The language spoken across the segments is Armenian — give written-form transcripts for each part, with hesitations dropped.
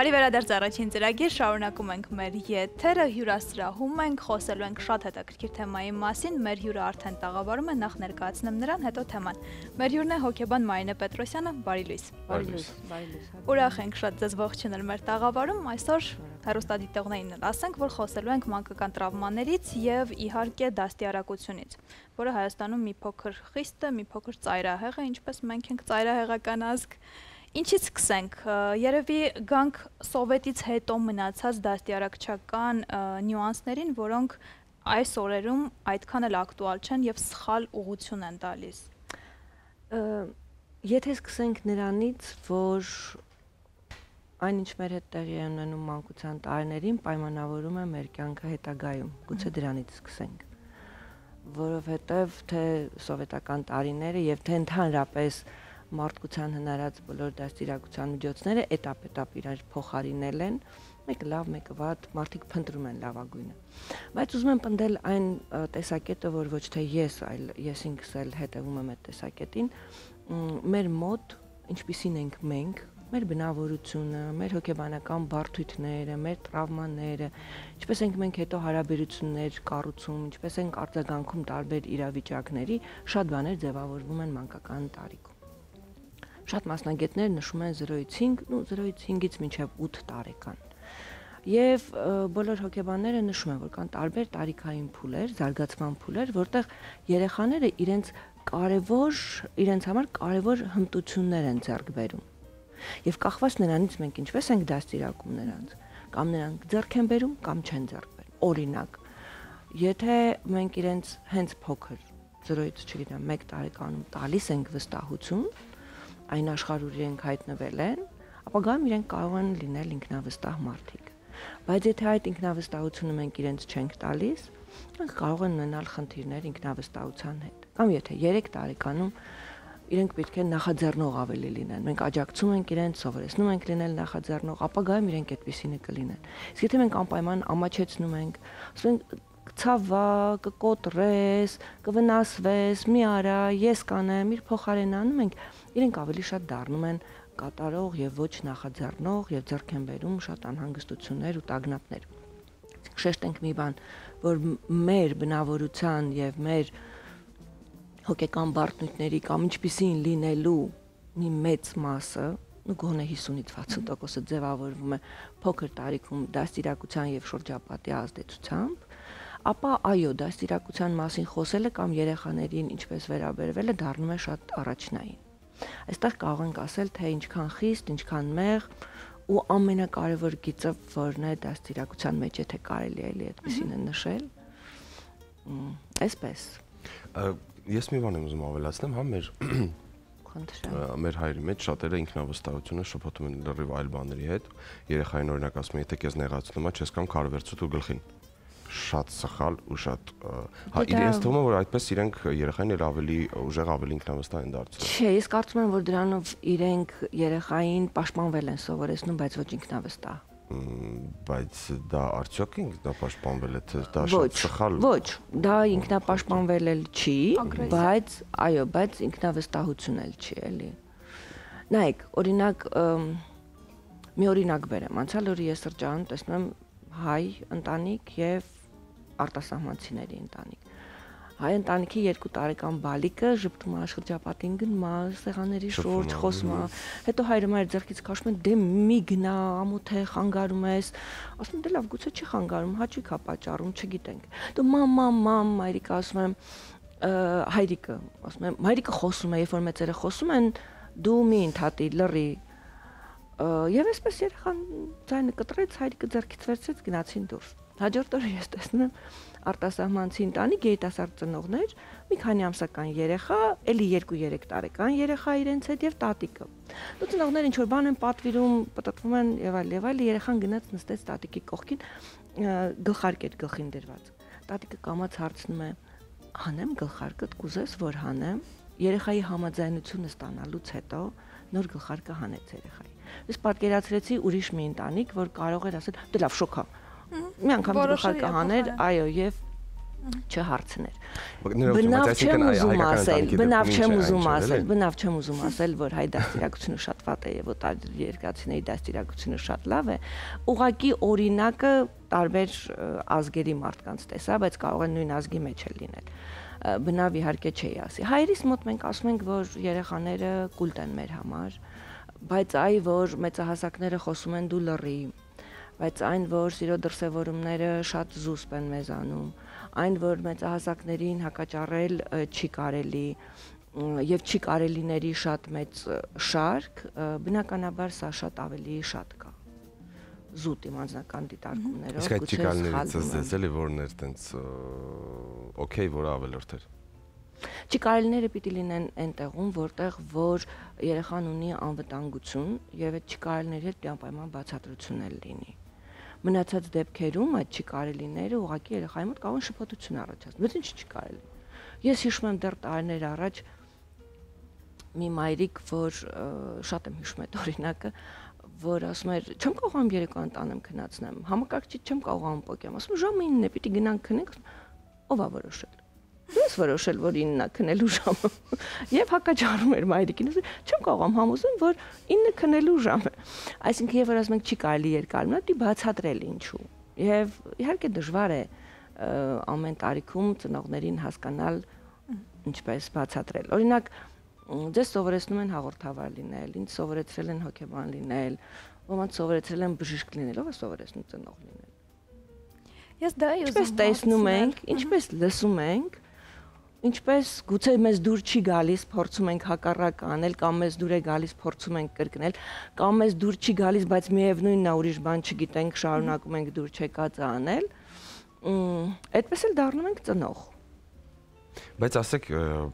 Բարի վերադարձ առաջին ծրագիր, շարունակում ենք մեր եթերը, հյուրասրահում ենք, խոսելու ենք շատ հետաքրքիր թեմայի մասին, մեր հյուրը արդեն տաղավարում է, նախ ներկայացնեմ նրան, հետո թեման։ Մեր հյուրն է հոգեբան Մարինե Պետրոսյանը, բարի լույս։ Ուրախ ենք շատ ձեզ ողջունել մեր տաղավարում, այսօր հեռուստադիտողներին ասենք, որ խոսելու ենք մանկական տրավմաներից եւ իհարկե դաստիարակությունից, որը Հայաստանում մի փոքր խիստ է, մի փոքր ծայրահեղ է, ինչպես մենք ենք ծայրահեղական ազգ։ Ինչից սկսենք, երևի գանք սովետից հետո մնացած դաստիարակչական նյուանսներին, որոնք այս օրերում այդքան էլ ակտուալ չեն եւ սխալ ուղղություն են տալիս։ Եթե սկսենք նրանից, որ այնինչ մեր հետ տեղի է ունենում մանկության տարիներին, պայմանավորում է մեր կյանքը հետագայում, գուցե դրանից սկսենք, որովհետև թե սովետական տարիները եւ թե ընդհանրապես մարդկության հնարած բոլոր դաստիարակության միջոցները էտապ իրար փոխարինել են, մեկը լավ, մեկը վատ, մարդիկ փնտրում են լավագույնը։ Բայց ուզում եմ պնդել այն տեսակետը, որ ոչ թե ես, այլ ես ինքս էլ հետևում եմ այդ տեսակետին, մեր մոտ, ինչպիսին ենք մենք, մեր բնավորությունը, մեր հոգեբանական բարդույթները, մեր տրավմաները, ինչպես ենք մենք հետո հարաբերություններ կառուցում, ինչպես ենք արձագանքում տարբեր իրավիճակների, շատ բաներ ձևավորվում են մանկական տարիքում։ Շատ մասնագետներ նշում են 0-ից 5, 0-ից 5-ից մինչև 8 տարեկան։ Եվ բոլոր հոգեբանները նշում են, որ կան տարբեր տարիքային փուլեր, զարգացման փուլեր, որտեղ երեխաները իրենց համար կարևոր հմտություններ են ձեռք բերում։ Եվ կախված նրանից մենք ինչպես ենք դաստիարակում նրանց, կամ նրանք ձեռք են բերում, կամ չեն ձեռք բերում։ Օրինակ, եթե մենք իրենց հենց փոքր 0-ից, չգիտեմ, 1 տարեկանում տալիս ենք վստահություն, այն աշխարհ ուր իրենք հայտնվել են, ապագայում իրենք կարող են լինել ինքնավստահ մարդիկ։ Բայց եթե այդ ինքնավստահությունը մենք իրենց չենք տալիս, նրանք կարող են ունենալ խնդիրներ ինքնավստահության հետ։ Կամ եթե 3 տարեկանում իրենք պետք է նախաձեռնող ավելի լինեն։ Մենք աջակցում ենք իրենց, սովորեցնում ենք լինել նախաձեռնող, ապագայում իրենք այդպիսինը կլինեն։ Իսկ եթե մենք անպայման ամաչեցնում ենք, ասում ենք ցավա, կկոտրես, կվնասվես, մի արա, ես կանեմ, իր փոխարեն անում ենք, իրենք ավելի շատ դառնում են կատարող եւ ոչ նախաձեռնող եւ ձեռք են բերում շատ անհանգստություններ ու տագնապներ։ Շեշտենք մի բան, որ մեր բնավորության եւ մեր հոգեկան բարդությունների կամ ինչպիսին լինելու մի մեծ մասը, գոնե 50-ից 60%-ը ձևավորվում է փոքր տարիքում դաստիարակության եւ շրջապատի ազդեցությամբ, ապա այո, դաստիարակության մասին խոսելը կամ երեխաներին ինչպես վերաբերվելը դառնում է շատ առաջնային։ Այստեղ կարող ենք ասել, թե ինչքան խիստ, ինչքան մեղ ու ամենակարևոր գիծը որն է դաստիարակության մեջ, եթե կարելի է այդպեսին նշել, այսպես։ Ես մի բան եմ ուզում ավելացնեմ, հա մեր հայրի մեջ շատերը ինքնավստահությունը շփոթում են լրիվ այլ բաների հետ։ Երեխային օրինակ ասում են, եթե քեզ նեղացնում է, չես կամ քարվերցու դու գլխին։ Շատ սխալ ու շատ հա իրենց թվում է որ այդպես իրենք երեխային էլ ավելի ուժեղ ավելի ինքնավստահ են դարձնում։ Չէ, ես կարծում եմ որ դրանով իրենք երեխային պաշտպանվել են սովորեցնում, բայց ոչ ինքնավստահ։ Բայց դա արդյոք ինքնապաշտպանվել է, թե դա շատ սխալ։ Ոչ, դա ինքնապաշտպանվել էլ չի, բայց այո, բայց ինքնավստահություն էլ չի, էլի։ Նայեք, օրինակ մի օրինակ բերեմ, անցյալ օրը ես սրճարանում տեսնում եմ հայ ընտանիք եւ արտասահմանցիների ընտանիք։ Հայ ընտանիքի 2 տարեկան բալիկը ժպտում է շրջապատին գնում է, սեղանների շուրջ խոսում է, հետո հայրը մայր ձեռքից քաշում են, դե մի գնա, ամոթ է, խանգարում ես, ասում դե լավ, գուցե չի խանգարում, հաճույք է պատճառում, չգիտենք։ Դու մամ, մայրիկը ասում եմ, հայրիկը, ասում եմ, մայրիկը խոսում է, երբ որ մեծերը խոսում են, դու մի ընդհատի, լռի։ Եվ այսպես երեխան ձայնը կտրեց, հայրիկը ձեռքից վերցրեց, գնացին դուրս։ Հաջորդ օրը ես տեսնում եմ արտասահմանցի ընտանիք երիտասարդ ծնողներ, մի քանի ամսական երեխա, էլի 2-3 տարեկան երեխա իրենց հետ եւ տատիկը։ Ու ծնողները ինչ որ բան են պատվիրում, պտտվում են եւ այլ, երեխան գնաց նստեց տատիկի կողքին, գլխարկ էր գլխին դրված։ Տատիկը կամաց հարցնում է. «Հանեմ գլխարկդ, կուզես որ հանեմ»։ Երեխայի համաձայնությունը ստանալուց հետո նոր գլխարկը հանեց երեխայի։ Ես պատկերացրեցի ուրիշ մի ընտանիք, որ կարող էր ասել՝ դե լավ, շոքա։ Մի անգամ գլխարկը հաներ, այո, եւ չհարցներ։ Բնավ չեմ ուզում ասել, որ հայ դաստիարակությունը շատ վատ է եւ օտար երկրացիների դաստիարակությունը շատ լավ է։ Ուղղակի օրինակը տարբեր ազգերի մարդկանց տեսա, բայց կարող է նույն ազգի մեջ էլ լինել։ Բնավ իհարկե չի ասի։ Հայերիս մոտ մենք ասում ենք, որ երեխաները կուլտ են մեր համար, բայց այ որ մեծահասակները խոսում են դու լռի, բայց այն որ սիրո դրսևորումները շատ զուսպ են մեզանում, այն որ մեծահասակներին հակաճառել չի կարելի եւ չի կարելիների շատ մեծ շարք, բնականաբար սա շատ ավելի շատ կա զուտ իմ անձնական դիտարկումներով։ Իսկ այդ չիկալներից զես էլի որն էր տենց օքեյ, որը ավելորդ էր։ Չիկարելիները պիտի լինեն այն տեղում, որտեղ որ երեխան ունի անվտանգություն եւ այդ չիկարելիների հետ անպայման բացատրություն էլ լինի։ Մնացած դեպքերում այդ չիկարելիները ուղղակի երեխայի մոտ կարող են շփոթություն առաջացնել։ Բայց ինչ չի կարելի։ Ես հիշում եմ դեռ տարիներ առաջ մի մայրիկ, որ շատ եմ հիշում այդ օրինակը, որ ասում էր, չեմ կարողանում երեկոյան տանեմ քնացնեմ, համակարգչից չեմ կարողանում պոկեմ, ասում ժամը 9-ն է, պիտի գնանք քնենք, ով ա որոշել։ Դու ես որոշել, որ 9-ն է քնելու ժամը։ Եվ հակաճառում էր մայրիկին, ասում չեմ կարողանում համոզեմ, որ 9-ը քնելու ժամ է։ Այսինքն, երբ որ ասում ենք չի կարելի երկար մնալ, դի բացատրել ինչու։ Եվ իհարկե դժվար է ամեն տարիքում ծնողներին հասկանալ ինչպես բացատրել։ Օրինակ, ձեզ սովորեցնում են հաղորդավար լինել, ինձ սովորեցրել են հոգեբան լինել, ոմանց սովորեցրել են բժիշկ լինել, ով է սովորեցնում ծնող լինել։ Ես դա եմ ուզում։ Ինչպես տեսնում ենք, ինչպես լսում ենք, ինչպես գուցե մեզ դուր չի գալիս, փորձում ենք հակառակ անել, կամ մեզ դուր է գալիս, փորձում ենք կրկնել, կամ մեզ դուր չի գալիս, բայց միևնույնն է ուրիշ բան չգիտենք, շարունակում ենք դուր չեկածը անել, այդպես էլ դառնում ենք ծնող։ Բայց ասեք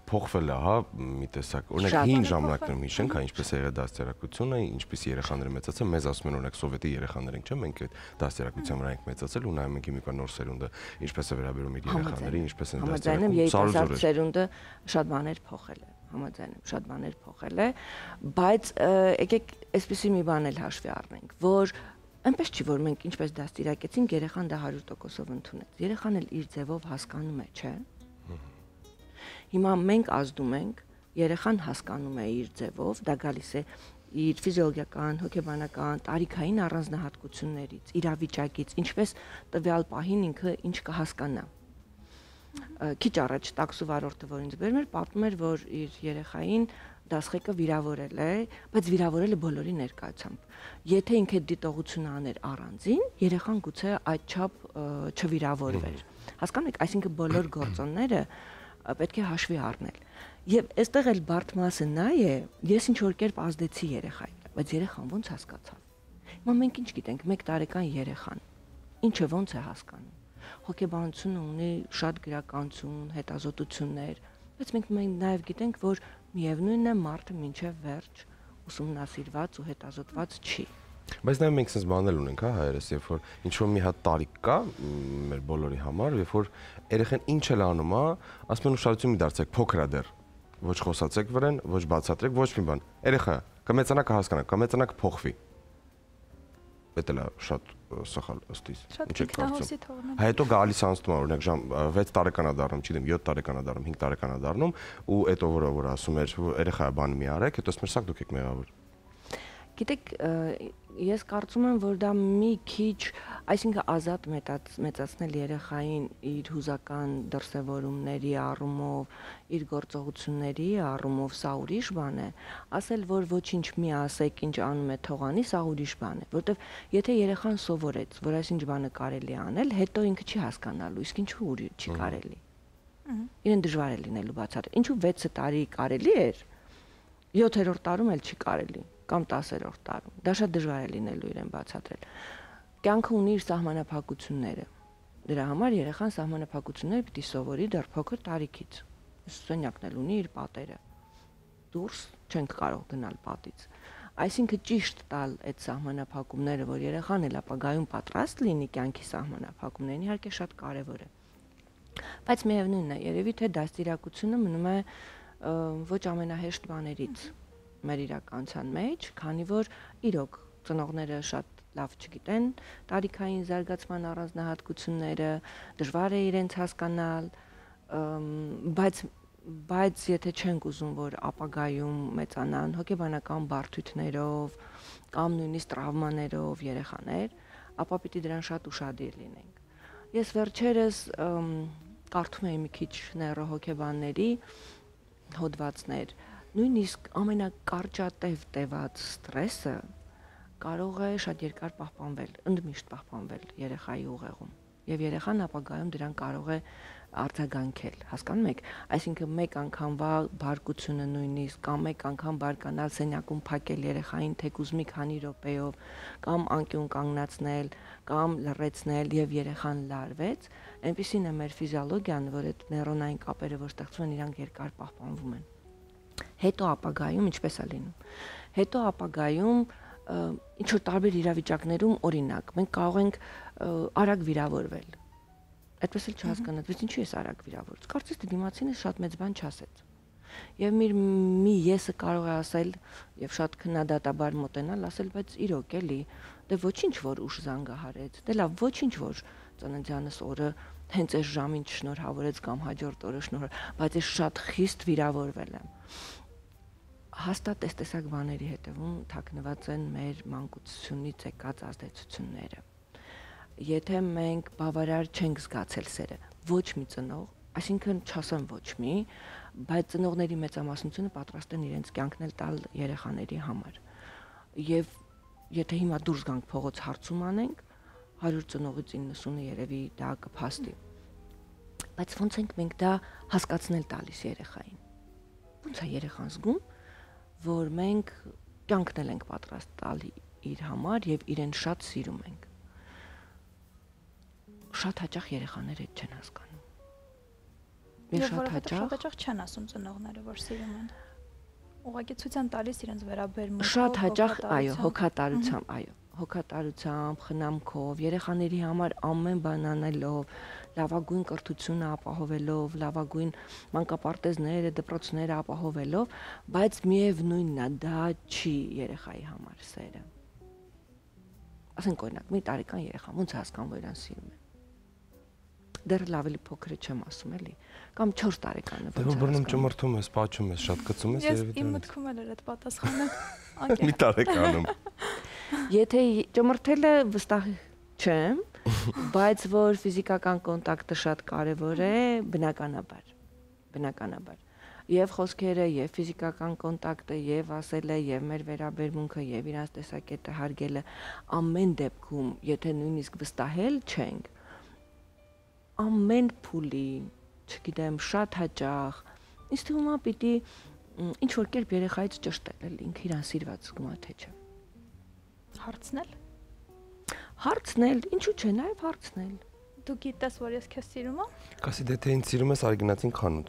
փոխվել է, հա, մի տեսակ։ Օրինակ հին ժամանակներում հիշենք, հա, ինչպես է եղել դաստիարակությունը, ինչպես երեխաները մեծացան, մեզ ասում են օրինակ սովետի երեխաներ ենք, չէ՞, մենք այդ դաստիարակության վրա ենք մեծացել ու նայում ենք հիմիկա նոր սերունդը, ինչպես է վերաբերում իր երեխաներին, ինչպես են դաստիարակում։ Երիտասարդ սերունդը շատ բաներ փոխել է, համաձայն եմ, շատ բաներ փոխել է, բայց եկեք այսպեսի մի բան էլ հաշվի առնենք, որ այնպես չի, որ մենք ինչպես դաստիարակեցինք, երեխան դա 100%-ով ընդունեց։ Երեխան էլ իր ձևով հասկանում է, չէ՞։ Հիմա մենք ազդում ենք, երեխան հասկանում է իր ձևով, դա գալիս է իր ֆիզիոլոգիական, հոգեբանական, տարիքային առանձնահատկություններից, իրավիճակից, ինչպես տվյալ պահին ինքը ինչ կհասկանա։ Քիչ առաջ տաքսու վարորդը, որ ինձ բերում էր, պատմում էր, որ իր երեխային դասղեկը վիրավորել է, բայց վիրավորել է բոլորի ներկայությամբ։ Եթե ինքը դիտողություն աներ առանձին, երեխան գուցե այդչափ չվիրավորվեր։ Հասկանու եք, այսինքն բոլոր գործոնները պետք է հաշվի առնել։ Եվ այստեղ էլ բարդ մասը նա է, ես ինչ որ կերպ ազդեցի երեխային, բայց երեխան ոնց հասկացավ։ Հիմա մենք ինչ գիտենք, 1 տարեկան երեխան ինչը ոնց է հասկանում։ Հոգեբանությունը ունի շատ գրականություն, հետազոտություններ, բայց մենք նաև գիտենք, որ միևնույնն է մարդը մինչև վերջ ուսումնասիրված ու հետազոտված չի։ Բայց նաև մենք sense բանել ունենք, հա, հայերս, երբ որ ինչ որ մի հատ տարիք կա մեր բոլորի համար, երբ որ երեխան ինչ էլ անում է, ասում են ուշադրություն մի դարձեք, փոքր է դեռ։ Ոչ խոսացեք վրան, ոչ բացատրեք, ոչ մի բան։ Երեխա կմեծանա կհասկանա, կմեծանա կփոխվի։ Դա էլ է շատ սխալ ըստ իս։ Ինչ եք կարծում։ Հետո գալիս անցնում է, օրինակ 6 տարեկան է դառնում, չգիտեմ, 7 տարեկան է դառնում, 5 տարեկան է դառնում, ու հետո որ ասում էր, երեխա բան մի արեք, հետո ասում էր, սա դուք եք մեղավոր։ Գիտեք, ես կարծում եմ, որ դա մի քիչ, այսինքն ազատ մեծացնել երեխային իր հուզական դրսևորումների առումով, իր գործողությունների առումով, սա ուրիշ բան է, ասել, որ ոչինչ մի ասեք, ինչ անում է թողանի, սա ուրիշ բան է, որովհետև եթե երեխան սովորեց, որ այսինչ բանը կարելի է անել, հետո ինքը չի հասկանալու, իսկ ինչու չի կարելի։ Իրեն դժվար է լինելու բացատրել։ Ինչու 6 տարի կարելի էր, 7-րդ տարում էլ չի կարելի, կամ 10-րդ տարում։ Դա շատ դժվար է լինելու իրեն բացատրել։ Կյանքը ունի իր սահմանափակությունները։ Դրա համար երեխան սահմանափակություններ պիտի սովորի դեռ փոքր տարիքից։ Սենյակն էլ ունի իր պատերը։ Դուրս չենք կարող գնալ պատից։ Այսինքն ճիշտ տալ այդ սահմանափակումները, որ երեխան էլ ապագայում պատրաստ լինի կյանքի սահմանափակումներին, իհարկե շատ կարևոր է։ Բայց միևնույնն է, երևի թե դաստիարակությունը մնում է ոչ ամենահեշտ բաներից մեր իրականության մեջ, քանի որ իրոք ծնողները շատ լավ չգիտեն տարիքային զարգացման առանձնահատկությունները, դժվար է իրենց հասկանալ, բայց եթե չենք ուզում, որ ապագայում մեծանան հոգեբանական բարդություններով կամ նույնիսկ տրավմաներով երեխաներ, ապա պիտի դրան շատ ուշադիր լինենք։ Ես վերջերս կարդում էի մի քիչ նեյրոհոգեբանների հոդվածներ, նույնիսկ ամենակարճատև տևած ստրեսը կարող է շատ երկար պահպանվել, ընդմիշտ պահպանվել երեխայի ուղեղում, եւ երեխան ապագայում դրան կարող է արձագանքել, հասկանում եք, այսինքն մեկ անգամվա բարկությունը նույնիսկ կամ մեկ անգամ բարկանալ սենյակում փակել երեխային թեկուզ մի քանի րոպեով կամ անկյուն կանգնացնել կամ լռեցնել եւ երեխան լարվեց, այնպիսին է մեր ֆիզիոլոգիան, որ այդ նեյրոնային կապերը, որ ստեղծվում են, իրանք երկար պահպանվում են։ Հետո ապագայում ինչպես է լինում։ Հետո ապագայում ինչ որ տարբեր իրավիճակներում, օրինակ, մենք կարող ենք արագ վիրավորվել։ Այդպես էլ չհասկանաց, բայց ինչու ես արագ վիրավորված։ Կարծես թե դիմացինը շատ մեծ բան չասեց։ Եվ մի եսը կարող է ասել եւ շատ քննադատաբար մոտենալ, ասել, բայց իրոք էլի, դե ոչինչ որ ուշ զանգահարեց, դե լավ, ոչինչ որ ծննդյանս օրը հենց այս ժամին չշնորհավորեց կամ հաջորդ օրը շնորհ, բայց ես շատ խիստ վիրավորվել եմ։ Հաստատ այս տեսակ բաների հետևում թաքնված են մեր մանկությունից եկած ազդեցությունները։ Եթե մենք բավարար չենք զգացել սերը, ոչ մի ծնող, այսինքն չասեմ ոչ մի, բայց ծնողների մեծամասնությունը պատրաստ են իրենց կյանքն էլ տալ երեխաների համար։ Եվ եթե հիմա դուրս գանք փողոց հարցում անենք, 100 ծնողից 90-ը երևի դա կփաստի։ Բայց ոնց ենք մենք դա հասկացնել տալիս երեխային։ Ոնց է երեխան զգում, որ մենք կյանքն էլ ենք պատրաստ տալ իր համար եւ իրեն շատ սիրում ենք։ Շատ հաճախ երեխաները այդ չեն հասկանում։ Եվ շատ հաճախ չեն ասում ծնողները, որ սիրում են։ Ուղղակի ցույց են տալիս իրենց վերաբերմունքը։ Շատ հաճախ, այո, հոգատարությամբ, այո, հոգատարությամբ, խնամքով, երեխաների համար ամեն բան անելով, լավագույն կրթությունը ապահովելով, լավագույն մանկապարտեզները, դպրոցները ապահովելով, բայց միևնույնն է, դա չի երեխայի համար սերը։ Ասենք օրինակ, մի տարեկան երեխա ոնց հասկանա, որ իրան սիրում են։ Դեռ լավ էլի փոքրը չեմ ասում էլի, կամ 4 տարեկանը ոնց է։ Բռնում ճմրթում ես, պաչում ես, շատ կծում ես երևի։ Ես իմ մտքում էլ էր այդ պատասխանը։ Մի տարեկանում։ Եթե ճմրթելը վստահ չեմ, բայց որ ֆիզիկական կոնտակտը շատ կարևոր է, բնականաբար։ Եվ խոսքերը, եւ ֆիզիկական կոնտակտը, եւ ասելը, եւ մեր վերաբերմունքը, եւ իրանց տեսակետը հարգելը ամեն դեպքում, եթե նույնիսկ վստահել չենք, ամեն փուլի, չգիտեմ, շատ հաճախ, ինձ թվում է պիտի ինչ որ կերպ երեխայից ճշտել, ինքը իրան սիրված զգում է թե չէ։ Հարցնել, ինչու՞ չէ, նաեւ հարցնել։ Դու գիտես, որ ես քեզ սիրում եմ։ Կասի դե թե ինձ սիրում ես, արի գնացին խանութ։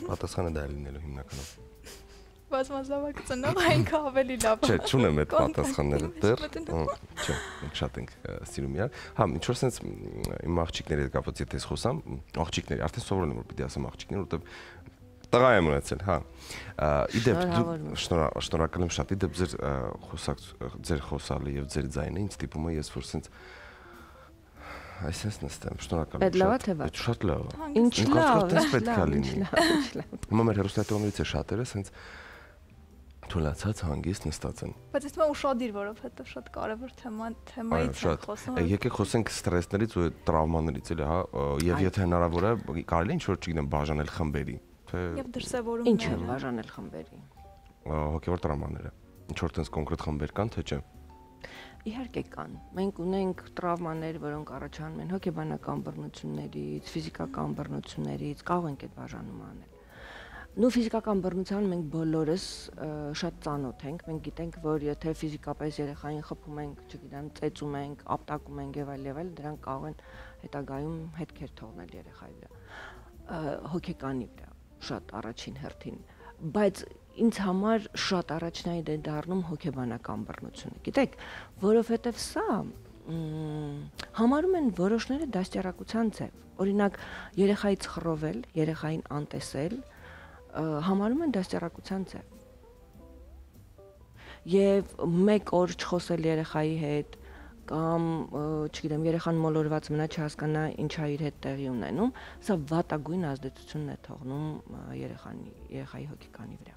Պատասխանը դա է լինելու հիմնականում։ Բազմազավակ ծնող այնքան ավելի լավ է։ Չէ, չունեմ այդ պատասխանները դեռ։ Չէ, մենք շատ ենք սիրում իրար։ Հա, ինչ որ sense իմ աղջիկների հետ կապված եթե ես խոսամ, աղջիկների, արդեն սովորել եմ որ պիտի ասեմ աղջիկներ, որովհետև տղա եմ ունեցել, հա։ Իդեպ շնորհակալ եմ շատ, իդեպ ձեր խոսալը եւ ձեր ձայնը ինձ տիպում է ես որ sense այսպես նստեմ, շնորհակալ եմ շատ։ Այդ շատ լավ է։ Ինչ լավ, պետք է լինի։ Հիմա մեր հեռուստատողներից է շատերը sense թույլացած հանգիստ նստած են։ Բայց ես մա ուշադիր, որովհետեւ շատ կարևոր թեմայից ենք խոսում։ Եկեք խոսենք ստրեսներից ու տրավմաներից էլի, հա, եւ եթե հնարավոր է, կարելի է ինչ որ չգիտեմ, բաժանել խմբերի, թե եւ դրսեւորումները։ Ինչ է բաժանել խմբերի։ Հոգեվոր տրավմաները։ Ինչ որ տես կոնկրետ խմբեր կան, թե չէ։ Իհարկե կան։ Մենք ունենք տրավմաներ, որոնք առաջանում են հոգեբանական բռնություններից, ֆիզիկական բռնություններից, կարող ենք այդ բաժանումը անել։ Նու ֆիզիկական բռնության մենք բոլորս շատ ծանոթ ենք, մենք գիտենք, որ եթե ֆիզիկապես երեխային խփում ենք, չգիտեմ, ծեծում ենք, ապտակում ենք եւ այլ, դրանք կարող են հետագայում հետքեր թողնել երեխայի վրա, հոգեկանի վրա, շատ առաջին հերթին, բայց ինձ համար շատ առաջնային է դառնում հոգեբանական բռնությունը։ Գիտեք, որովհետեւ սա համարում են որոշները դաստիարակության ձև։ Օրինակ, երեխայից խռովել, երեխային անտեսել համարում են դաստիարակության ձև։ Եվ մեկ օր չխոսել երեխայի հետ կամ չգիտեմ, երեխան մոլորված մնա, չհասկանա ինչա իր հետ տեղի ունենում, սա վատագույն ազդեցությունն է թողնում երեխայի հոգեկանի վրա։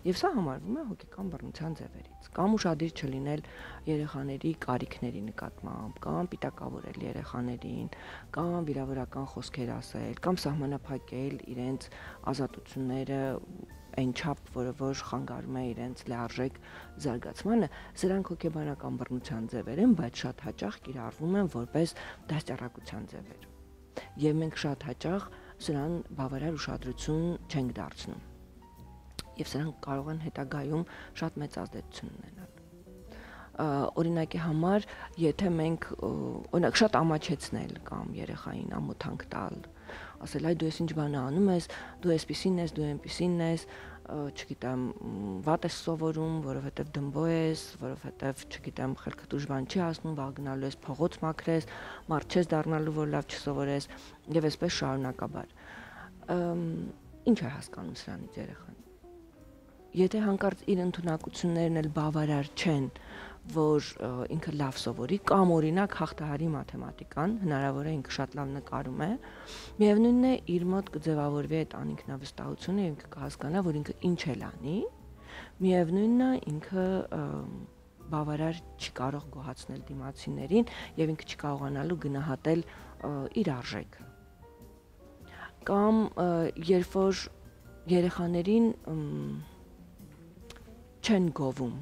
Եվ սա համարվում է հոգեկան բռնության ձևերից, կամ ուշադիր չլինել երեխաների կարիքների նկատմամբ, կամ պիտակավորել երեխաներին, կամ վիրավորական խոսքեր ասել, կամ սահմանափակել իրենց ազատությունները այն չափ, որ խանգարում է իրենց լիարժեք զարգացմանը, սրանք հոգեբանական բռնության ձևեր են, բայց շատ հաճախ կիրառվում են որպես դաստիարակության ձևեր։ Եվ մենք շատ հաճախ սրան բավարար ուշադրություն չենք դարձնում։ Եվ սրանք կարող են հետագայում շատ մեծ ազդեցություն ունենալ։ Օրինակի համար, եթե մենք օրինակ շատ ամաչեցնել կամ երեխային ամոթանք տալ, ասել այ դու ես ինչ բան անում ես, դու էսպիսին ես, դու այնպիսին ես, չգիտեմ, վատ ես սովորում, որովհետև դմբո ես, որովհետև չգիտեմ, խելքդ ուժ բան չի հասնում, վաղ գնալու ես փողոց մաքրես, մարդ չես դառնալու, որ լավ չսովորես, եւ այսպես շարունակաբար։ Ինչ է հասկանում սրանից երեխան։ Եթե հանկարծ իր ընդունակություններն էլ բավարար չեն, որ ինքը լավ սովորի, կամ օրինակ հաղթահարի մաթեմատիկան, հնարավոր է ինքը շատ լավ նկարում է, միևնույնն է իր մոտ կձևավորվի այդ անինքնավստահությունը, ինքը կհասկանա, որ ինքը ինչ էլ անի, միևնույնն է ինքը բավարար չի կարող գոհացնել դիմացիներին եւ ինքը չի կարողանալու գնահատել իր արժեքը։ Կամ երբ որ երեխաներին չեն գովում։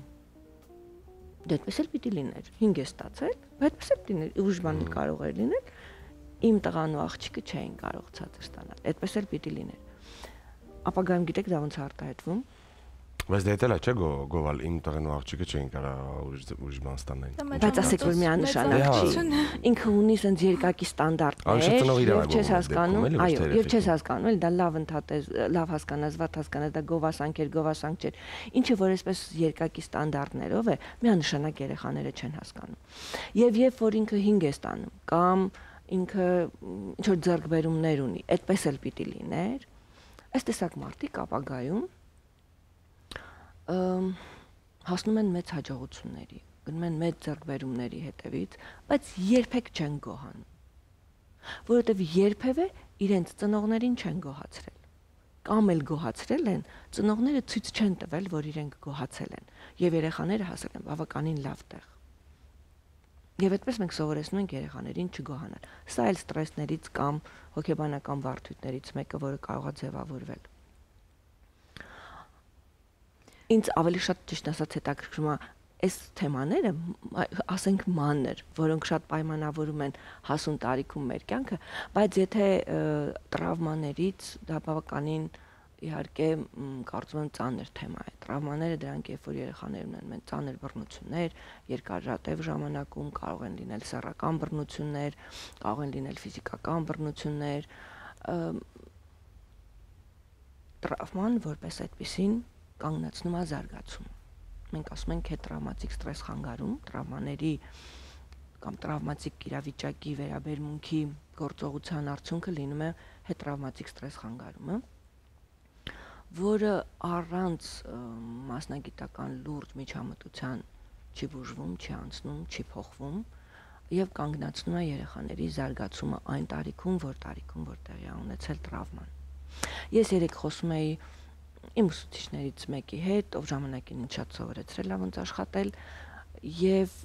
Դա այդպես էլ պիտի լիներ։ 5 է ստացել, բայց այդպես էլ լիներ, ուժ բան կարող էր լինել։ Իմ տղան ու աղջիկը չէին կարող ցածր ստանալ։ Այդպես էլ պիտի լիներ։ Ապագայում գիտեք դա ոնց է արտահայտվում։ Բայց դա էլ է, չէ՞ գովել իմ տղեն ու աղջիկը չէին կարող ուժ բան ստանալ։ Բայց ասեք որ միանշանակ չի։ Ինքը ունի sense երկակի ստանդարտներ, եւ չես հասկանում, այո, եւ չես հասկանում, էլ դա լավ ընդհատես, լավ հասկանաս, վատ հասկանաս, դա գովասանք չէր, ինչը որ այսպես երկակի ստանդարտներով է, միանշանակ երեխաները չեն հասկանում։ Եվ երբ որ ինքը 5 է ստանում, կամ ինքը ինչ որ ձեռքբերումներ ունի, այդպես էլ պիտի լիներ, այս տեսակ մարդիկ ապագայում հասնում են մեծ հաջողությունների, գնում են մեծ ձեռքբերումների հետևից, բայց երբեք չեն գոհանում, որովհետև երբևէ իրենց ծնողներին չեն գոհացրել, կամ էլ գոհացրել են, ծնողները ցույց չեն տվել, որ իրենք գոհացել են, եւ երեխաները հասել են բավականին լավ տեղ։ Եվ այդպես մենք սովորեցնում ենք երեխաներին չգոհանալ։ Սա էլ ստրեսներից կամ հոգեբանական բարդություններից մեկը, որը կարող է ձևավորվել։ Ինձ ավելի շատ ճիշտ ասած հետաքրքրում է այս թեմաները, ասենք մանր, որոնք շատ պայմանավորում են հասուն տարիքում մեր կյանքը, բայց եթե տրավմաներից դա բավականին իհարկե կարծում եմ ծանր թեմա է։ Տրավմաները դրանք երբ որ երեխաներ ունեն մեն ծանր բռնություններ, երկարատև ժամանակում կարող են լինել սեռական բռնություններ, կարող են լինել ֆիզիկական բռնություններ, տրավման որպես այդպիսին կանգնեցնում է զարգացումը։ Մենք ասում ենք հետտրավմատիկ ստրես խանգարում, տրավմաների կամ տրավմատիկ իրավիճակի վերաբերմունքի գործողության արդյունքը լինում է հետտրավմատիկ ստրես խանգարումը, որը առանց մասնագիտական լուրջ միջամտության չի բուժվում, չի անցնում, չի փոխվում եւ կանգնեցնում է երեխաների զարգացումը այն տարիքում, որ տեղի է ունեցել տրավման։ Ես երեք խոսում էի իմ ուսուցիչներից մեկի հետ, ով ժամանակին ինձ շատ սովորեցրել է ոնց աշխատել, եւ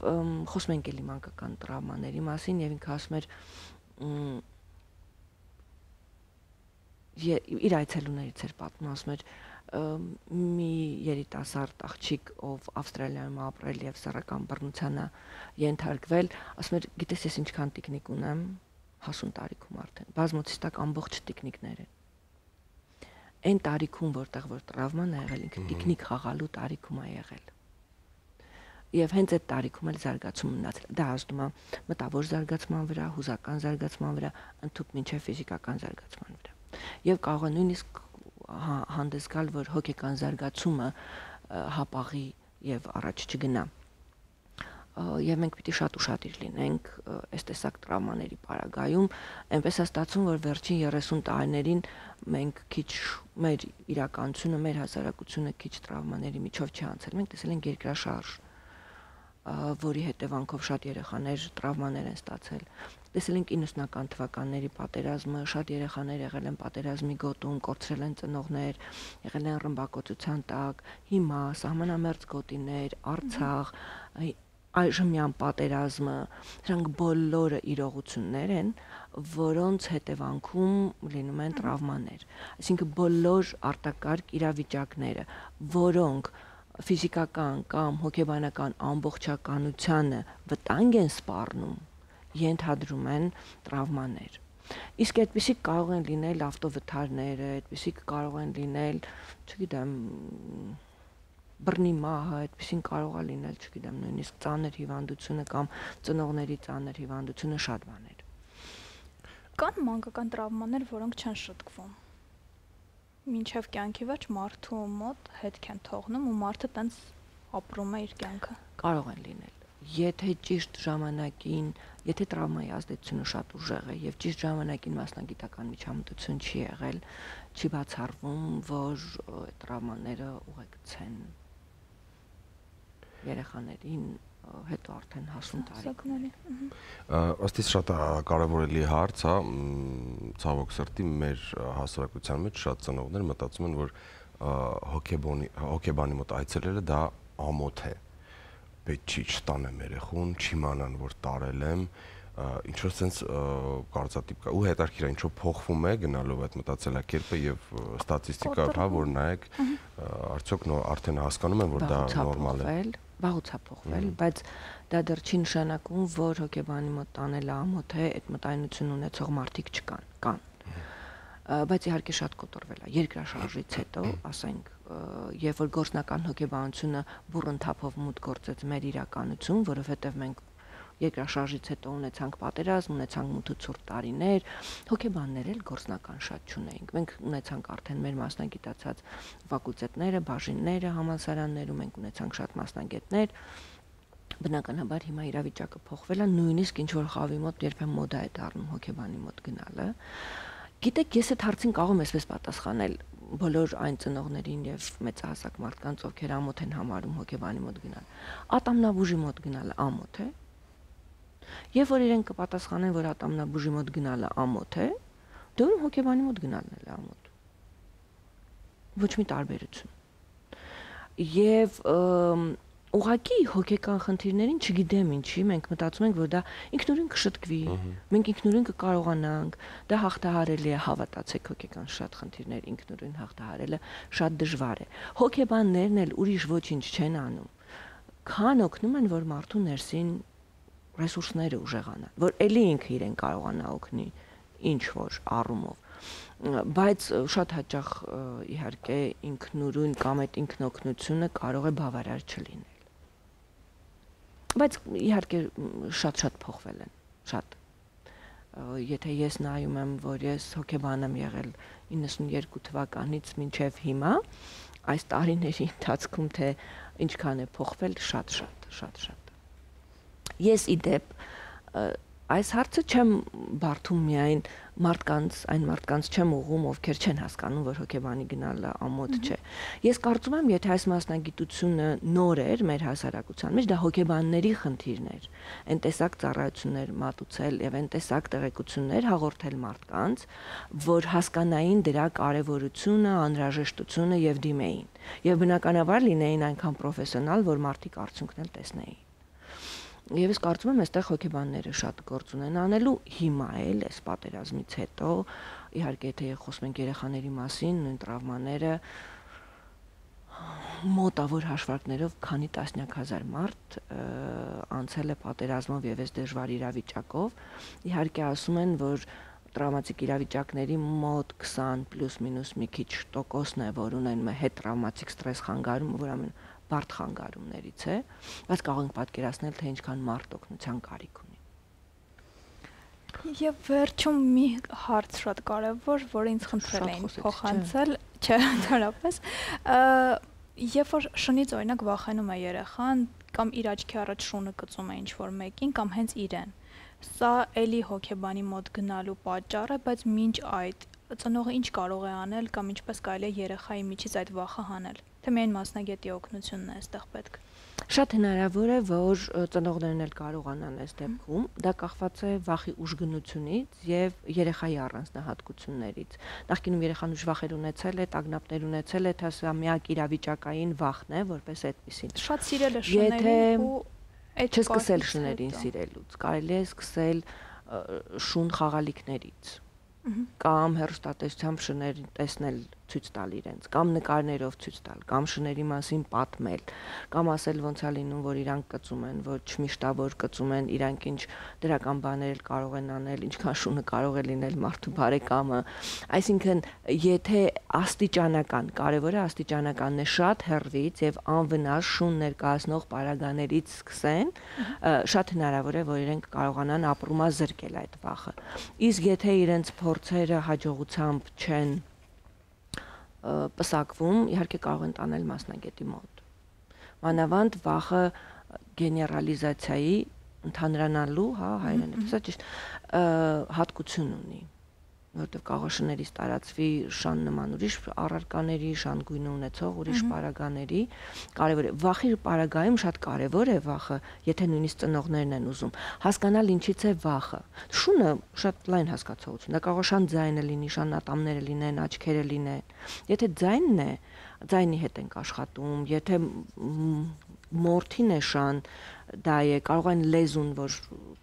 խոսում ենք էլի մանկական տրավմաների մասին, եւ ինքը ասում էր իր այցելուներից էր պատմում, ասում էր մի երիտասարդ աղջիկ, ով Ավստրալիայում ապրել եւ սեռական բռնության է ենթարկվել, ասում էր գիտես ես ինչքան տիկնիկ ունեմ, հասուն տարիքում արդեն, բազմոցիստակ ամբողջ տիկնիկներ են։ Այն տարիքում, որտեղ որ տրավման է եղել, ինքը տիկնիկ խաղալու տարիքում է եղել։ Եվ հենց այդ տարիքում էլ զարգացում ունեցել։ Դա ազդում է մտավոր զարգացման վրա, հուզական զարգացման վրա, ընդհանուր մինչև ֆիզիկական զարգացման վրա։ Եվ կարող է նույնիսկ հանդես գալ, որ հոգեկան զարգացումը հապաղի եւ առաջ չգնա։ Եվ մենք պիտի շատ ուշադիր լինենք այս տեսակ տրավմաների պարագայում, այնպես է ստացվում, որ վերջին 30 տարիներին մենք քիչ մեր իրականությունը, մեր հասարակությունը քիչ տրավմաների միջով չի անցել։ Մենք տեսել ենք երկրաշարժ, որի հետևանքով շատ երեխաներ տրավմաներ են ստացել։ Տեսել ենք 90-ական թվականների պատերազմը, շատ երեխաներ եղել են պատերազմի գոտում, կորցրել են ծնողներ, եղել են ռմբակոծության տակ, հիմա սահմանամերձ գոտիներ, Արցախ, այժմյան պատերազմը, դրանք բոլորը իրողություններ են, որոնց հետևանքում լինում են տրավմաներ։ Այսինքն բոլոր արտակարգ իրավիճակները, որոնք ֆիզիկական կամ հոգեբանական ամբողջականությանը վտանգ են սպառնում, ենթադրում են տրավմաներ։ Իսկ այդպիսիք կարող են լինել ավտովթարները, այդպիսիք կարող են լինել, չգիտեմ, բռնի մահը, այդպիսին կարող է լինել, չգիտեմ, նույնիսկ ծանր հիվանդությունը կամ ծնողների ծանր հիվանդությունը, շատ բաներ։ Կան մանկական տրավմաներ, որոնք չեն շտկվում։ Մինչև կյանքի վերջ մարդու մոտ հետք են թողնում ու մարդը տենց ապրում է իր կյանքը։ Կարող են լինել։ Եթե ճիշտ ժամանակին, եթե տրավմայի ազդեցությունը շատ ուժեղ է եւ ճիշտ ժամանակին մասնագիտական միջամտություն չի եղել, չի բացառվում, որ տրավմաները ուղեկցեն երեխաներին հետո արդեն հասուն տարիքների։ Ըստ իս շատ կարևորելի հարց, հա, ցավոք սրտի մեր հասարակության մեջ շատ ծնողներ մտածում են, որ հոգեբանի մոտ այցելելը դա ամոթ է։ Պետք չի չտանեմ երեխուն, չիմանան, որ տարել եմ, ինչ-որ sense կարծատիպ կա։ Ու հետաքրքիր է, ինչով փոխվում է գնալով այդ մտածելակերպը եւ ստատիստիկայով, հա, որ նայեք, արդյոք արդեն հասկանում են, որ դա նորմալ է։ Վաղուց է փոխվել, բայց դա դեռ չի նշանակում, որ հոգեբանի մոտ տանելը ամոթ է, այդ մտայնություն ունեցող մարդիկ չկան, կան։ Բայց իհարկե շատ կոտորվել է երկրաշարժից հետո, ասենք, երբ որ գործնական հոգեբանությունը բուռն թափով մուտք գործեց մեր իրականություն, որովհետև մենք երկրաշարժից հետո ունեցանք պատերազմ, ունեցանք մութ տարիներ, հոգեբաններ էլ գործնական շատ չունեինք։ Մենք ունեցանք արդեն մեր մասնագիտացած ֆակուլտետները, բաժինները համալսարաններում, մենք ունեցանք շատ մասնագետներ։ Բնականաբար հիմա իրավիճակը փոխվել է, նույնիսկ ինչ որ խավի մոտ երբեմն մոդա է դառնում հոգեբանի մոտ գնալը։ Գիտեք, ես այդ հարցին կարող եմ այսպես պատասխանել բոլոր այն ծնողներին եւ մեծահասակ մարդկանց, ովքեր ամոթ են համարում հոգեբանի մոտ գնալ։ Ատամնաբուժի մոտ գնալը ամոթ է։ Եվ որ իրենք կպատասխանեն, որ ատամնաբուժի մոտ գնալը ամոթ է, դե ուրեմն հոգեբանի մոտ գնալն էլ է ամոթ։ Ոչ մի տարբերություն։ Եվ ուղղակի հոգեկան խնդիրներին չգիտեմ ինչի, մենք մտածում ենք, որ դա ինքնուրույն կշտկվի, մենք ինքնուրույն կկարողանանք, դա հաղթահարելի է, հավատացեք, հոգեկան շատ խնդիրներ ինքնուրույն հաղթահարելը շատ դժվար է։ Հոգեբաններն էլ ուրիշ ոչինչ չեն անում, քան օգնում են, որ մարդու ներսին ռեսուրսները ուժեղանան, որ ելի ինքը իրեն կարողանա օգնի ինչ որ առումով, բայց շատ հաճախ իհարկե ինքնուրույն կամ այդ ինքնօգնությունը կարող է բավարար չլինել։ Բայց իհարկե շատ փոխվել են, շատ։ Եթե ես նայում եմ, որ ես հոգեբան եմ եղել 92 թվականից մինչև հիմա, այս տարիների ընթացքում թե ինչքան է փոխվել, շատ։ Ես իդեպ այս հարցը չեմ բարդում միայն այն մարդկանց չեմ ուղղում, ովքեր չեն հասկանում, որ հոգեբանի գնալը ամոթ չէ։ Ես կարծում եմ, եթե այս մասնագիտությունը նոր էր մեր հասարակության մեջ, դա հոգեբանների խնդիրն էր։ Այն տեսակ ծառայություններ մատուցել եւ այն տեսակ տեղեկություններ հաղորդել մարդկանց, որ հասկանային դրա կարեւորությունը, անհրաժեշտությունը եւ դիմեին։ Եվ բնականաբար լինեին այնքան պրոֆեսիոնալ, որ մարդիկ արդյունքն էլ տեսնեին։ Եվ ես կարծում եմ, այստեղ հոգեբանները շատ գործ ունեն անելու հիմա էլ, այս պատերազմից հետո, իհարկե եթե խոսում ենք երեխաների մասին, նույն տրավմաները մոտավոր հաշվարկներով քանի տասնյակ հազար մարդ անցել է պատերազմով եւ այս դժվար իրավիճակով, իհարկե ասում են, որ տրավմատիկ իրավիճակների մոտ 20 պլյուս-մինուս մի քիչ տոկոսն է, որ ունեն հետ տրավմատիկ ստրես խանգարում, որ ամեն բարդ խանգարումներից է, բայց կարող ենք պատկերացնել, թե ինչքան մարդ օգնության կարիք ունի։ Եվ վերջում մի հարց շատ կարևոր, որ ինձ խնդրել էին փոխանցել, չէ, ընդհանրապես, երբ որ շնից օրինակ վախենում է երեխան կամ իր աչքի առաջ շունը կծում է ինչ-որ մեկին կամ հենց իրեն, սա էլի հոգեբանի մոտ գնալու պատճառ է, բայց մինչ այդ ծնողը ինչ կարող է անել կամ ինչպես կարելի է երեխայի միջից այդ վախը հանել, թե միայն մասնագետի օգնությունն է այստեղ պետք։ Շատ հնարավոր է, որ ծնողներն էլ կարողանան այս դեպքում, դա կախված է վախի ուժգնությունից եւ երեխայի առանձնահատկություններից։ Նախկինում երեխան ուժ վախեր ունեցել է, տագնապներ ունեցել է, թե սա միակ իրավիճակային վախն է, որպես այդպեսին։ Շատ սիրել է շներին ու այդ չսկսել շներին սիրելուց, կարելի է սկսել շուն խաղալիքներից կամ հեռուստատեսությամբ շներ տեսնել ցույց տալ իրենց, կամ նկարներով ցույց տալ, կամ շների մասին պատմել, կամ ասել ոնց է լինում, որ իրանք կծում են, ոչ միշտավոր կծում են, իրանք ինչ դրական բաներ կարող են անել, ինչքան շունը կարող է լինել մարդու բարեկամը։ Այսինքն, եթե աստիճանական, կարևորը աստիճանականն է, շատ հեռվից եւ անվնաս շուն ներկայացնող պարագաներից սկսեն, շատ հնարավոր է, որ իրենք կարողանան ապրումազրկել այդ վախը։ Իսկ եթե իրենց փորձերը հաջողությամբ չեն պսակվում, իհարկե կարող են տանել մասնագետի մոտ։ Մանավանդ վախը գեներալիզացիայի ընդհանրանալու, հա, հայերենից, սա ճիշտ, հատկություն ունի, որտեղ կարող է շներից տարածվի շան նման ուրիշ առարկաների, շան գույն ունեցող ուրիշ պարագաների, կարևոր է։ Վախի պարագայում շատ կարևոր է վախը, եթե նույնիսկ ծնողներն են ուզում, հասկանալ ինչից է վախը։ Շունը շատ լայն հասկացողություն, դա կարող է շան ձայնը լինի, շան ատամները լինեն, աչքերը լինեն։ Եթե ձայնն է, ձայնի հետ ենք աշխատում, եթե մորթին է շան, դա է, կարող են լեզուն, որ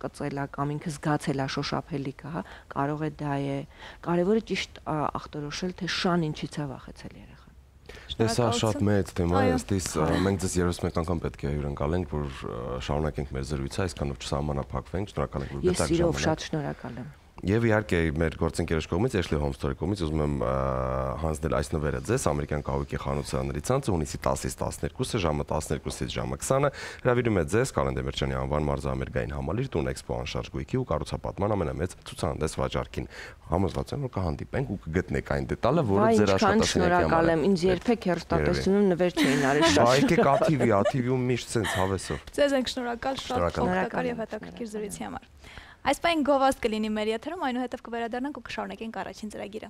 կծել է կամ ինքը զգացել է շոշափելիքը, հա, կարող է դա է։ Կարևորը ճիշտ ախտորոշել, թե շան ինչից է վախեցել երեխան։ Սա շատ մեծ թեմա է, ըստիս մենք ձեզ 31 անգամ պետք է հյուրընկալենք, որ շարունակենք մեր զրույցը, այսքանով չսահմանափակվենք, շնորհակալ ենք, որ գտաք ժամանակ։ Ես սիրով շատ շնորհակալ եմ։ Եվ իհարկե մեր գործընկերոջ կողմից, Ashley Home Store-ի կողմից ուզում եմ հանձնել այս նվերը ձեզ ամերիկյան կահույքի խանությանների ցանցը հունիսի 10-ից 12-ը ժամը 12-ից ժամը 20-ը հրավիրում է ձեզ Կալեն Դեմիրճյանի անվան մարզամերգային համալիր տուն Էքսպո անշարժ գույքի ու կառուցապատման ամենամեծ ցուցահանդես վաճառքին։ Համոզված եմ, որ կհանդիպենք ու կգտնենք այն դետալը, որը ձեր աշխատասենյակի համար։ Շնորհակալ եմ, ինձ երբեք հեռուստատեսությունում նվեր չէին արել շատ։ Բայ եկեք ATV-ում միշտ sense հավեսով։ Ձեզ ենք շնորհակալ շատ օգտակար եւ հետաքրքիր զրույցի համար։ Այս պայն գովազդ կլինի մեր եթերում, այնուհետև կվերադառնանք ու կշարունակենք առաջին ծրագիրը։